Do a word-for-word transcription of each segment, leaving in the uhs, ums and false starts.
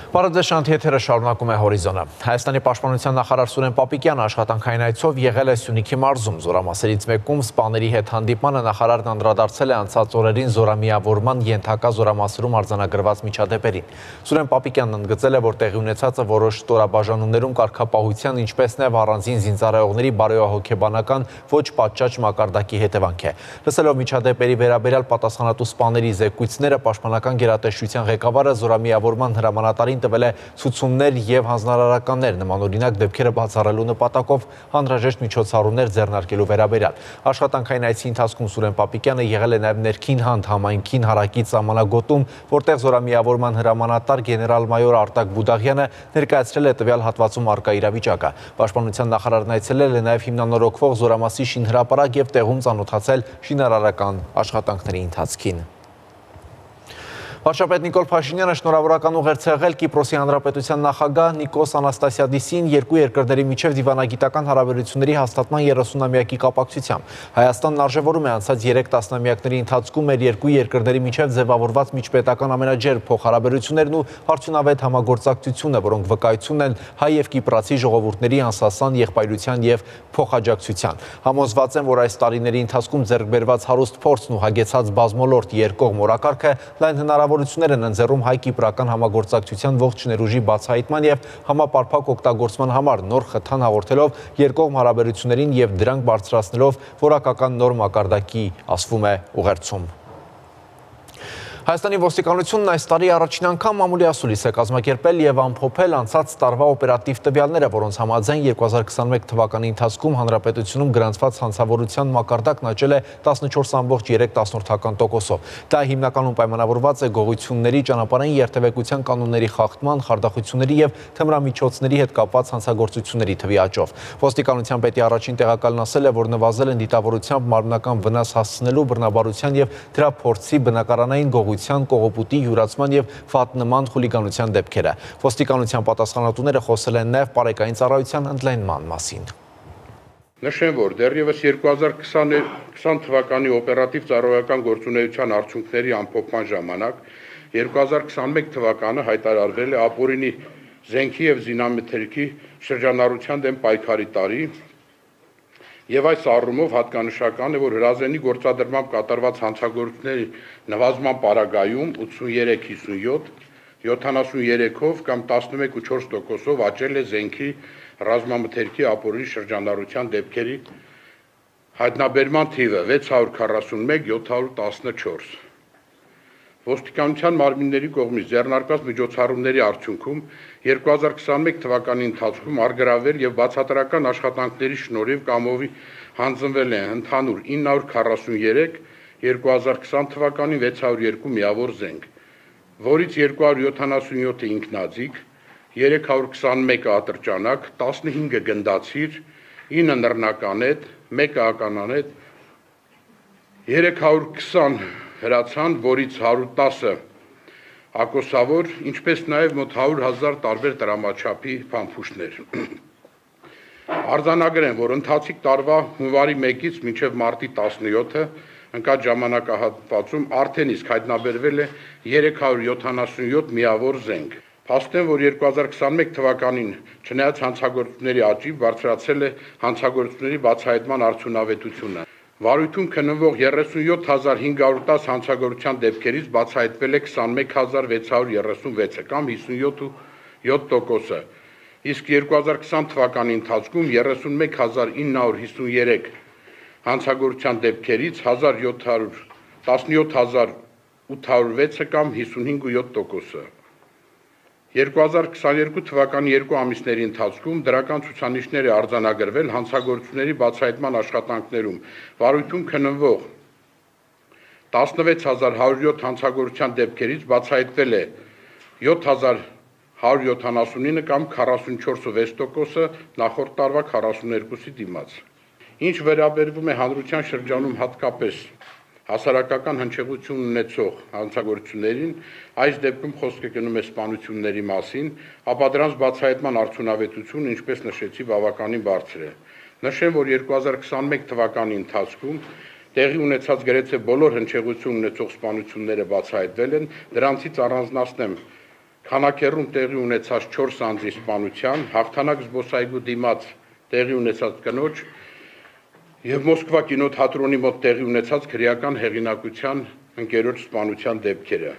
Բարև շանթ եթերը շարունակում է հորիզոնը։ Հայաստանի պաշտպանության նախարար Սուրեն Պապիկյանը աշխատանքային այցով եղել է Սյունիքի մարզում։ Զորամասերից մեկում սպաների հետ հանդիպմանը նախարարն անդրադարձել է անցած օրերին զորամիավորման ենթակա զորամասերում արձանագրված միջադեպերին։ Սուրեն Պապիկյանն ընդգծել է, որ տեղի ունեցածը որոշ ստորաբաժանումներում կարգապահության, ինչպես նաև առանձին զինծառայողների բարոյահոգեբանական ոչ պատշաճ մակարդակի հետևանք է։ Լսելով միջադեպերի վերաբերյալ պատասխանատու սպաների զեկույցները, պաշտպանական գերատեսչության ղեկավարը զորամիավորման հրամանատարին տվել է ցուցումներ եւ հանձնարարականներ նմանօրինակ դեպքերը բացառելու նպատակով հանրաժեշտ միջոցառումներ ձեռնարկելու վերաբերյալ։ Աշխատանքային այցի ընթացքում Սուրեն Պապիկյանը եղել է նաեւ ներքին հանդ համայնքին հարակից սահմանագոտում, որտեղ զորամիավորման հրամանատար գեներալ-մայոր Արտակ Բուդաղյանը ներկայացրել է տվյալ հատվածում առկա իրավիճակը։ Պաշտպանության նախարարն այցելել է նաեւ հիմնանորոգվող զորամասի շինհրապարակ եւ տեղում ծանոթացել շինարարական աշխատանքների ընթացքին։ Վարչապետ Նիկոլ Փաշինյանը շնորհավորական ուղերձ է եղել Կիպրոսի Հանրապետության նախագահ Նիկոս Անաստասիադիսին երկու երկրների միջև դիվանագիտական հարաբերությունների հաստատման երեսունամյակի կապակցությամբ։ Հայաստանն արժևորում է անցած երեք տասնամյակների ընթացքում մեր երկու երկրների միջև ձևավորված միջպետական ամենաջերմ փոխհարաբերություններն ու արդյունավետ համագործակցությունը, որոնք վկայություն են հայ եւ կիպրացի ժողովուրդների անսասան եղբայրության եւ փոխաջակցության։ Համոզված եմ, որ այս տարիների ընթացքում ձեռք բերված հարուստ փորձն ու հագեցած բազմոլորտ երկկողմ օրակարգը լայն հնարավորություններ են ընձեռում հայ-կիպրական համագործակցության ողջ ներուժի բացահայտման եւ համապարփակ օգտագործման համար, նոր խթան հաղորդելով երկկողմ հարաբերություններին եւ դրանք բարձրացնելով որակական նոր մակարդակի, ասվում է ուղերձում։ Հայաստանի ոստիկանությունն այս տարի առաջին անգամ մամուլի ասուլիս է կազմակերպել եւ ամփոփել անցած տարվա օպերատիվ տվյալները, որոնց համաձայն երկու հազար քսաներեք թվականի ընթացքում հանրապետությունում գրանցված հանցավորության մակարդակն աճել է տասնչորս կόμma երեք տոկոսով։ Դա հիմնականում պայմանավորված է գողությունների, ճանապարհային երթևեկության կանոնների խախտման, խարդախությունների եւ թմրամիջոցների հետ կապված հանցագործությունների թվի աճով։ Ոստիկանության պետի առաջին տեղակալն ասել է, որ նվազել են դիտավորությամբ մարմնական վնաս հասցնելու, բռնաբարության եւ դրա փորձի բնակարանային գողության, կողոպուտի, յուրացման եւ ֆատնման խուլիգանության դեպքերը։ Ոստիկանության պատասխանատուները խոսել են նաեւ պարեկային ծառայության ընդլայնման մասին։ Նշեմ, որ դեռևս երկու հազար քսան թվականի օպերատիվ ծառայական գործունեության արդյունքների ամփոփման ժամանակ երկու հազար քսաներեք թվականը հայտարարվել է ապօրինի զենքի եւ զինամթերքի շրջանառության դեմ պայքարի տարի, եւ այս առումով հատկանշական է, որ հրազենի գործադրմամբ կատարված հանցագործությունների նվազման պարագայում ութսուներեք հիսունյոթ, յոթանասուներեքով կամ տասնմեկ կόμma չորս տոկոսով աճել է զենքի ռազմամթերքի ապօրինի շրջանառության դեպքերի հայտնաբերման թիվը վեց հարյուր քառասունմեկ հազար յոթ հարյուր տասնչորս։ Ոստիկանության մարմինների կողմից ձեռնարկված միջոցառումների արդյունքում երկու հազար քսաներեք թվականի ընթացքում արգրավել եւ բացատրական աշխատանքների շնորհիվ կամովի հանձնվել է ընդհանուր ինը հարյուր քառասուներեք, երկու հազար քսան թվականին վեց հարյուր երկու միավոր զենք, որից երկու հարյուր յոթանասունյոթը ինքնաձիգ, երեք հարյուր քսանմեկը ատրճանակ, տասնհինգը գնդացիր, ինը նռնականետ, մեկը ականանետ, երեք հարյուր քսան հրացան, որից հարյուր տասը ակոսավոր, ինչպես նաև մոտ հարյուր հազար տարբեր տրամաչափի փամփուշտներ։ Արձանագրեմ, որ ընթացիկ տարվա հունվարի մեկից մինչև մարտի տասնյոթը ընկած ժամանակահատվածում արդեն իսկ հայտնաբերվել է երեք հարյուր յոթանասունյոթ միավոր զենք։ Փաստեմ, որ երկու հազար քսաներեք թվականին չնայած հանցագործությունների աճի բարձրացել է հանցագործությունների բացահայտման արդյունավետությունը։ Վարույթում քննվող երեսունյոթ հազար հինգ հարյուր տասը հանցագործության դեպքերից բացահայտվել է քսանմեկ հազար վեց հարյուր երեսունվեցը կամ հիսունյոթ կόμma յոթ տոկոսը, իսկ երկու հազար քսան թվականի ընթացքում երեսունմեկ հազար ինը հարյուր հիսուներեք հանցագործության դեպքերից տասնյոթ հազար ութ հարյուր վեցը կամ հիսունհինգ կόμma յոթ տոկոսը։ երկու հազար քսաներկու թվականի երկու ամիսների ընթացքում դրական ցուցանիշներ է արձանագրվել հանցագործությունների բացահայտման աշխատանքներում, վարույթում քննվող տասնվեց հազար հարյուր յոթ հանցագործության դեպքերից բացահայտվել է յոթ հազար հարյուր յոթանասունինը կամ քառասունչորս կόμma վեց տոկոսը նախորդ տարվա քառասուներկուսի դիմաց։ Ինչ վերաբերվում է հանրության շրջանում հատկապես հասարակական հնչեղություն ունեցող հանցագործություններին, այս դեպքում խոսքը գնում է սպանությունների մասին, ապա դրանց բացահայտման արդյունավետությունը, ինչպես նշեցի, բավականին բարձր է։ Նշեմ, որ երկու հազար քսաներեք թվականի ընթացքում տեղի ունեցած գրեթե բոլոր հնչեղություն ունեցող սպանությունները բացահայտվել են, դրանցից առանձնացնեմ Քանաքեռում տեղի ունեցած չորս անձի սպանության, հաղթանակ զբոսայգու դիմաց տեղի ունեցած կնոջ եւ Մոսկվա կինոթատրոնի մոտ տեղի ունեցած քրեական հեղինակության ընկերոջ սպանության դեպքերը։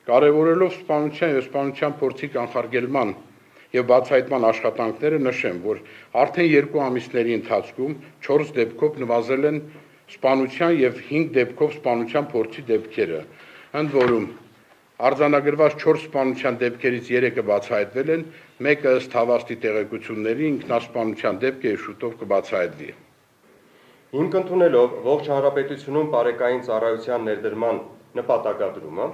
Կարևորելով սպանության եւ սպանության փորձի կանխարգելման եւ բացահայտման աշխատանքները նշեմ, որ արդեն երկու ամիսների ընթացքում չորս դեպքով նվազել են սպանության եւ հինգ դեպքով սպանության փորձի դեպքերը, ընդ որում արձանագրված չորս սպանության դեպքերից երեքը բացահայտվել են, մեկը ըստ հավաստի տեղեկությունների ինքնասպանության դեպք է շուտով կբացահայտվի։ Հիմք ընդունելով ողջ հանրապետությունում բարեկային ծառայության ներդրման նպատակադրումը,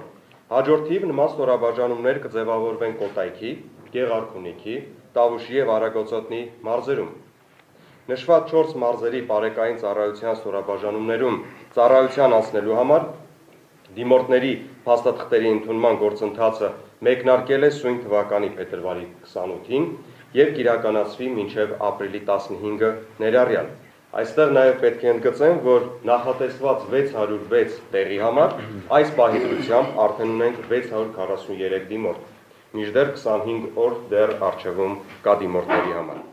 հաջորդիվ նման ստորաբաժանումներ կձևավորվեն Կոտայքի, Գեղարքունիքի, Տավուշի եւ Արագոցոտնի մարզերում։ Նշված չորս մարզերի բարեկային ծառայության ստորաբաժանումներում ծառայության անցնելու համար դիմորդների փաստաթղթերի ընդունման գործընթացը մեկնարկել է սույն թվականի փետրվարի քսանութին եւ կիրականացվի մինչեւ ապրիլի տասնհինգը ներառյալ։ Այստեղ նաև պետք է ընդգծեմ, որ նախատեսված վեց հարյուր վեց տեղի համար այս պահի դրությամբ արդեն ունենք վեց հարյուր քառասուններեք դիմորդ, մինչդեռ քսանհինգ օր դեռ առջևում կա դիմորդների համար։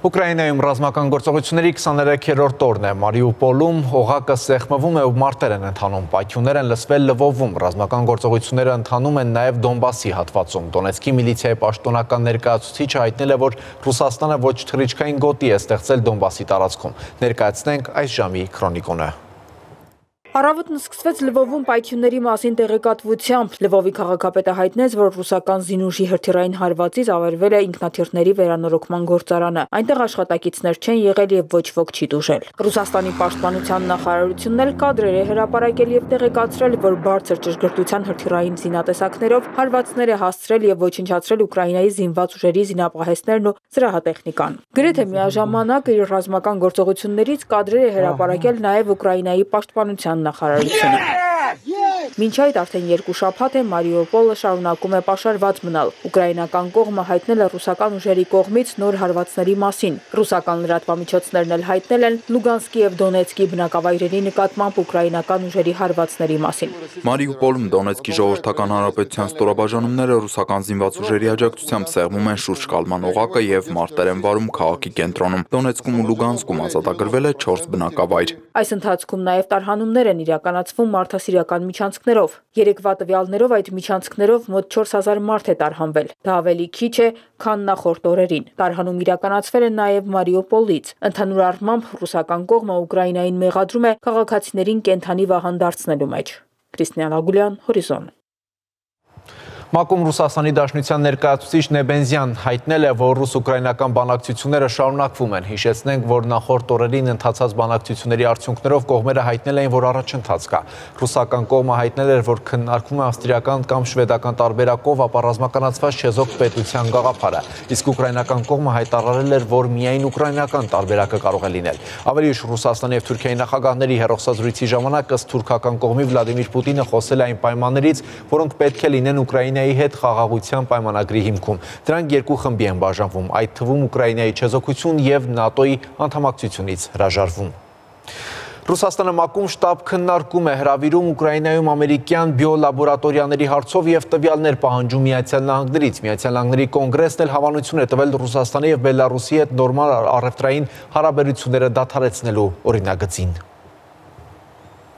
Ուկրաինայում ռազմական գործողությունների քսաներեքերորդ օրն է, Մարիուպոլում օղակը սեղմվում է ու մարտեր են ընթանում, պայթյուններ են լսվել Լվովում, ռազմական գործողությունները ընթանում են նաև Դոնբասի հատվածում։ Դոնեցկի միլիցիայի պաշտոնական ներկայացուցիչը հայտնել է, որ Ռուսաստանը ոչ թռիչքային գոտի է ստեղծել Դոնբասի տարածքում։ Ներկայացնենք այս ժամի քրոնիկոնը։ Առավոտն սկսվեց Լվովում պայթյունների մասին տեղեկատվությամբ։ Լվովի քաղաքապետը հայտնեց, որ ռուսական զինուժի հրթիռային հարվածից ավերվել է ինքնաթիռների վերանորոգման գործարանը։ Այնտեղ աշխատակիցներ չեն եղել եւ ոչ ոք չի տուժել։ Ռուսաստանի պաշտպանության նախարարությունն էլ կադրեր է հրապարակել եւ տեղեկացրել, որ բարձր ճշգրտության հրթիռային զինատեսակներով հարվածներ է հասցրել եւ ոչնչացրել Ուկրաինայի զինված ուժերի զինապահեսներն ու զրահատեխնիկան։ Գրեթե միաժամանակ իր ռազմական գործողություններից կադրեր է հրապարակել նաեւ Ուկրաինայի պաշտպանության նախարարությունը։ Մինչ այդ արդեն երկու շաբաթ է Մարիուպոլը շարունակում է պաշարված մնալ։ Ուկրաինական կողմը հայտնել է ռուսական ուժերի կողմից նոր հարվածների մասին։ Ռուսական լրատվամիջոցներն էլ հայտնել են Լուգանսկի եւ Դոնեցկի բնակավայրերի նկատմամբ ուկրաինական ուժերի հարվածների մասին։ Մարիուպոլում Դոնեցկի ժողովրդական հանրապետության ստորաբաժանումները ռուսական զինված ուժերի աջակցությամբ սեղմում են շուրջ կալման օղակը եւ մարտեր են վարում քաղաքի կենտրոնում։ Դոնեցկում ու Լուգանսկում ազատագրվել է չորս բնակավայր։ Այս ընթացքում նաև տարհանումներ են իրականացվում մարդասիրական միջանցքներով։ Երեկվա տվյալներով այդ միջանցքներով մոտ չորս հազար մարդ է տարհանվել։ Դա ավելի քիչ է, քան նախորդ օրերին։ Տարհանում իրականացվել է նաև Մարիուպոլից։ Ընդհանուր առմամբ ռուսական կողմը Ուկրաինային մեղադրում է քաղաքացիներին կենթանի վահան դարձնելու մեջ։ Քրիստիան Ագուլյան, Հորիզոն։ ՄԱԿ-ում Ռուսաստանի Դաշնության ներկայացուցիչ Նեբենզյան հայտնել է, որ ռուս-ուկրաինական բանակցությունները շարունակվում են։ Հիշեցնենք, որ նախորդ օրերին ընթացած բանակցությունների արդյունքներով կողմերը հայտնել էին, որ առաջընթաց կա։ Ռուսական կողմը հայտնել էր, որ քննարկվում է ավստրիական կամ շվեդական տարբերակով ապառազմականացված չեզոք պետության գաղափարը, իսկ ուկրաինական կողմը հայտարարել էր, որ միայն ուկրաինական տարբերակը կարող է լինել։ Ավելի ուշ Ռուսաստանի եւ Թուրքիայի նախագահների հեռախոսազրույցի ժամանակ ըստ թուրքական կողմի Վլադիմիր Պուտինը խոսել է այն պայմաններից, որոնք պետք է լինեն Ուկրաինայի հետ խաղաղության պայմանագրի հիմքում։ Դրանք երկու խմբի են բաժանվում, այդ թվում Ուկրաինայի չեզոքություն եւ ՆԱՏՕ-ի անդամակցությունից հրաժարվում։ Ռուսաստանը ՄԱԿ-ում շտաբ քննարկում է հրավիրում Ուկրաինայում ամերիկյան բիոլաբորատորիաների հարցով եւ տվյալներ պահանջում Միացյալ Նահանգներից։ Միացյալ Նահանգների կոնգրեսն էլ հավանություն է տվել Ռուսաստանի եւ Բելարուսի հետ նորմալ առևտրային հարաբերությունները դադարեցնելու օրինագծին։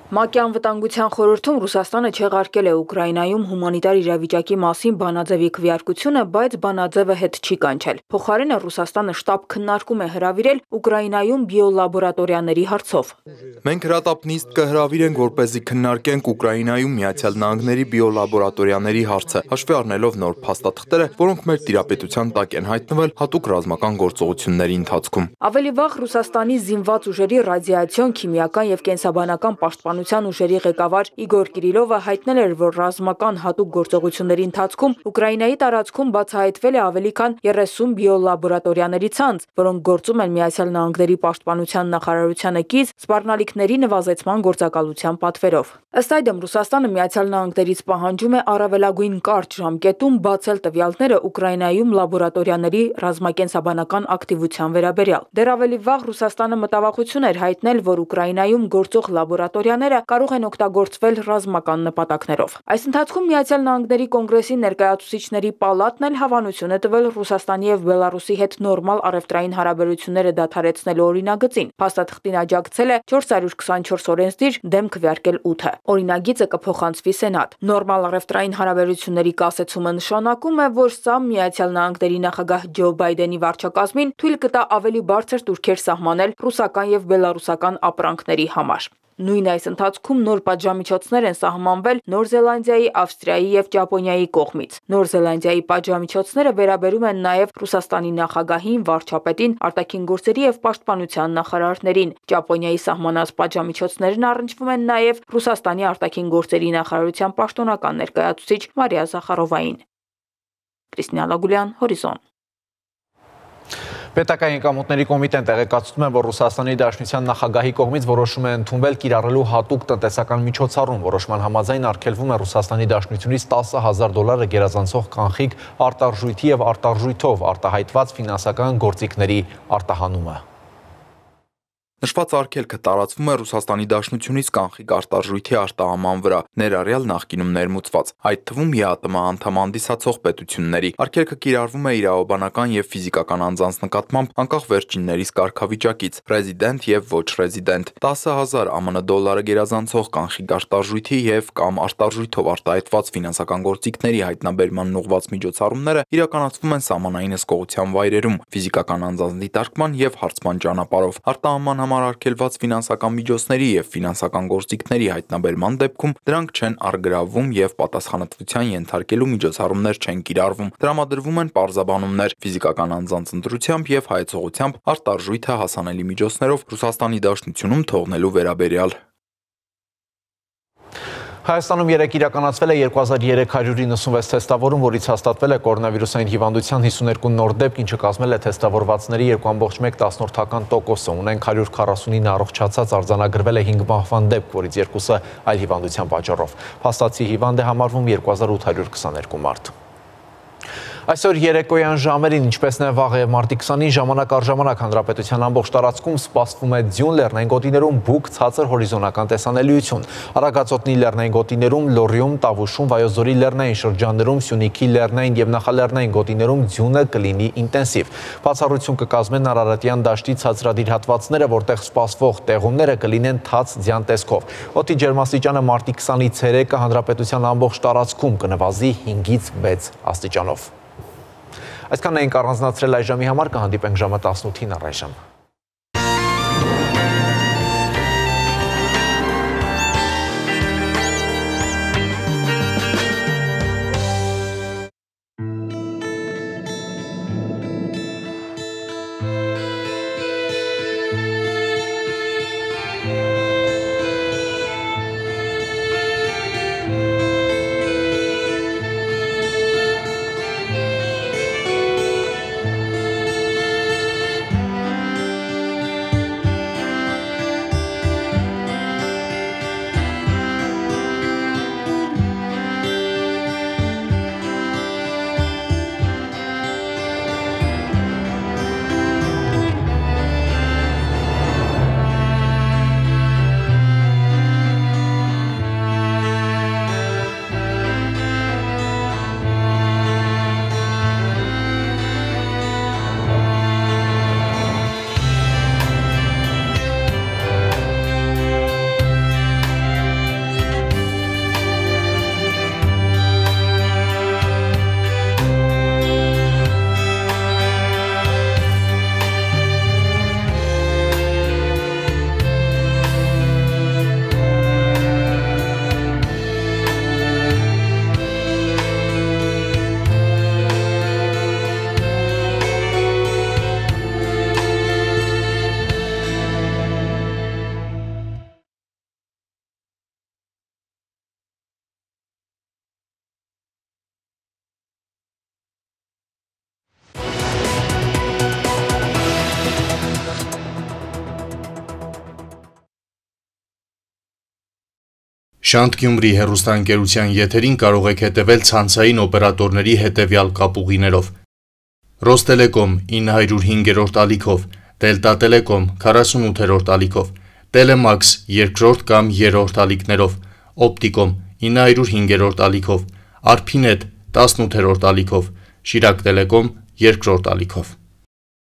ՄԱԿ-ի անվտանգության խորհրդում Ռուսաստանը չեղարկել է Ուկրաինայում հումանիտար իրավիճակի մասին բանաձևի քվեարկությունը, բայց բանաձևը հետ չի կանչել։ Փոխարենը Ռուսաստանը շտաբ քննարկում է հրավիրել Ուկրաինայում բիոլաբորատորիաների հարցով։ Մենք հրատապ նիստ կհրավիրենք, որպեսզի քննարկենք Ուկրաինայում Միացյալ Նահանգների բիոլաբորատորիաների հարցը, հաշվի առնելով նոր փաստաթղթերը, որոնք մեր տիրապետության տակ են հայտնվել հատուկ ռազմական գործողությունների ընթացքում։ Ավելի վաղ Ռուսաստանի զինված ուժերի ռադիացիոն, քիմիական եւ կենսաբանական պաշտպանության պաշտպանության ուժերի ղեկավար Իգոր Կիրիլովը հայտնել էր, որ ռազմական հատուկ գործողությունների ընթացքում Ուկրաինայի տարածքում բացահայտվել է ավելի քան երեսուն բիոլաբորատորիաների ցանց, որոնք գործում են Միացյալ Նահանգների պաշտպանության նախարարությանը կից սպառնալիքների նվազեցման գործակալության պատվերով։ Ըստ այդմ Ռուսաստանը Միացյալ Նահանգներից պահանջում է առավելագույն կարճ ժամկետում բացել տվյալները Ուկրաինայում լաբորատորիաների ռազմակենսաբանական ակտիվության վերաբերյալ։ Դեռ ավելի վաղ Ռուսաստանը մտավախություն էր հայտնել, որ Ուկրաինայում գործող լաբորատորիաները կարող են օգտագործվել ռազմական նպատակներով։ Այս ընթացքում Միացյալ Նահանգների կոնգրեսի ներկայացուցիչների պալատն էլ հավանություն է տվել Ռուսաստանի եւ Բելարուսի հետ նորմալ առևտրային հարաբերությունները դադարեցնելու օրինագծին։ Փաստաթղթին աջակցել է չորս հարյուր քսանչորս օրենսդիր, դեմ քվեարկել ութը։ Օրինագիծը կփոխանցվի Սենատ։ Նորմալ առևտրային հարաբերությունների կասեցումը նշանակում է, որ սա Միացյալ Նահանգների նախագահ Ջո Բայդենի վարչակազմին թույլ կտա ավելի բարձր տուրքեր սահմանել ռուսական եւ բելարուսական ապրանքների համար։ Նույն այս ընթացքում նոր պատժամիջոցներ են սահմանվել Նոր Զելանդիայի, Ավստրիայի եւ Ճապոնիայի կողմից։ Նոր Զելանդիայի պատժամիջոցները վերաբերում են նաեւ Ռուսաստանի նախագահին, վարչապետին, արտաքին գործերի եւ պաշտպանության նախարարներին։ Ճապոնիայի սահմանած պատժամիջոցներն առնչվում են նաեւ Ռուսաստանի արտաքին գործերի նախարարության պաշտոնական ներկայացուցիչ Մարիա Զախարովային։ Կրիստինա Լագուլյան, Հորիզոն։ Պետական եկամուտների կոմիտեն տեղեկացնում է, որ Ռուսաստանի Դաշնության նախագահի կողմից որոշում է ընդունվել կիրառելու հատուկ տնտեսական միջոցառում։ Որոշման համաձայն արգելվում է Ռուսաստանի Դաշնությունից տասը հազար դոլարը գերազանցող կանխիկ արտարժույթի եւ արտարժույթով արտահայտված ֆինանսական գործիքների արտահանումը։ Նշված արգելքը տարածվում է Ռուսաստանի Դաշնությունից կանխիկ արտարժույթի արտահանման վրա, ներառյալ նախկինում ներմուծված, այդ թվում ԵԱՏՄ անդամ հանդիսացող պետությունների։ Արգելքը կիրառվում է իրավաբանական եւ ֆիզիկական անձանց նկատմամբ անկախ վերջիններիս կարգավիճակից, ռեզիդենտ եւ ոչ ռեզիդենտ։ տասը հազար ԱՄՆ դոլարը գերազանցող կանխիկ արտարժույթի եւ կամ արտարժույթով արտահայտված ֆինանսական գործիքների հայտնաբերման ուղղված միջոցառումները իրականացվում են սահմանային հսկողության վայրերում, ֆիզիկական անձանց դիտարկման եւ հարցման ճանապարհով։ Արտահանման համար արգելված ֆինանսական միջոցների եւ ֆինանսական գործիքների հայտնաբերման դեպքում դրանք չեն առգրավվում եւ պատասխանատվության ենթարկելու միջոցառումներ չեն կիրառվում։ Տրամադրվում են պարզաբանումներ ֆիզիկական անձանց ընտրությամբ եւ հայեցողությամբ արտարժույթը հասանելի միջոցներով Ռուսաստանի Դաշնությունում թողնելու վերաբերյալ։ Հայաստանում երեկ իրականացվել է երկու հազար երեք հարյուր իննսունվեց թեստավորում, որից հաստատվել է կորոնավիրուսային հիվանդության հիսուներկու նոր դեպք, ինչը կազմել է թեստավորվածների երկու կόμμα մեկ տոկոս։ Ունենք հարյուր քառասունինը առողջացած, արձանագրվել է հինգ մահվան դեպք, որից երկուսը այլ հիվանդության պատճառով։ Փաստացի հիվանդ է համարվում երկու հազար ութ հարյուր քսաներկու մարդ։ Այսօր երեկոյան ժամերին, ինչպես նաև վաղ եւ մարտի քսանին, ժամանակ առ ժամանակ հանրապետության ամբողջ տարածքում սպասվում է ձյուն, լեռնային գոտիներում բուք, ցածր հորիզոնական տեսանելիություն։ Արագածոտնի լեռնային գոտիներում, Լոռիում, Տավուշում, Վայոց ձորի լեռնային շրջաններում, Սյունիքի լեռնային եւ նախալեռնային գոտիներում ձյունը կլինի ինտենսիվ։ Բացառություն կկազմեն Արարատյան դաշտի ցածրադիր հատվածները, որտեղ սպասվող տեղումները կլինեն թաց ձյան տեսքով։ Օդի ջերմաստիճանը մարտի քսանից ցերեկը հանրապետության ամբողջ տարածքում կնվազի հինգից վեց աստիճանով։ Այսքանն էինք առանձնացրել այս ժամի համար, կհանդիպենք ժամը տասնութին առայժմ։ Շանթ Գյումրի հեռուստաընկերության եթերին կարող եք հետևել ցանցային օպերատորների հետևյալ կապուղիներով. Ռոստելեկոմ ինը հարյուր հինգերորդ ալիքով, Դելտա Տելեկոմ քառասունութերորդ ալիքով, Տելեմաքս երկրորդ կամ երրորդ ալիքներով, Օպտիկոմ ինը հարյուր հինգերորդ ալիքով, Արփինետ տասնութերորդ ալիքով, Շիրակ Տելեկոմ երկրորդ ալիքով։